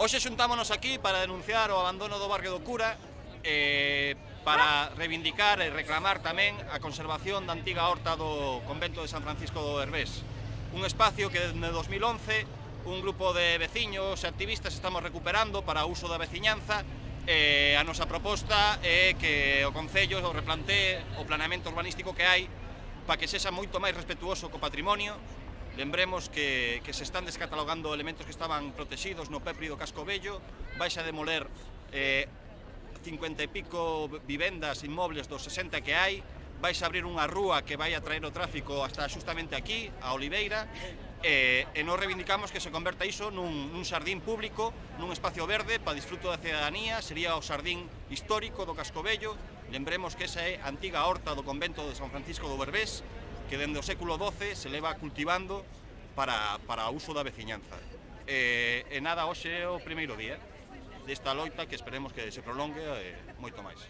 Hoxe xuntámonos aquí para denunciar o abandono do barrio do Cura, para reivindicar e reclamar tamén a conservación da antiga horta do convento de San Francisco do Herbés. Un espacio que desde 2011 un grupo de veciños e activistas estamos recuperando para o uso da veciñanza. A nosa proposta é que o Concello replantee o planeamento urbanístico que hai para que sexa moito máis respetuoso co patrimonio. Lembremos que se están descatalogando elementos que estaban protegidos no Pepri do Casco Vello. Vais a demoler 50 e pico vivendas inmobles dos 60 que hai. Vais a abrir unha rúa que vai a traer o tráfico hasta justamente aquí, a Oliveira, e nos reivindicamos que se converta iso nun xardín público, nun espacio verde para disfruto da cidadanía. Sería o xardín histórico do Casco Vello. Lembremos que esa é a antiga horta do convento de San Francisco do Herbés, que dende o século XII se leva cultivando para o uso da veciñanza. E nada, hoxe é o primeiro día desta loita que esperemos que se prolongue moito máis.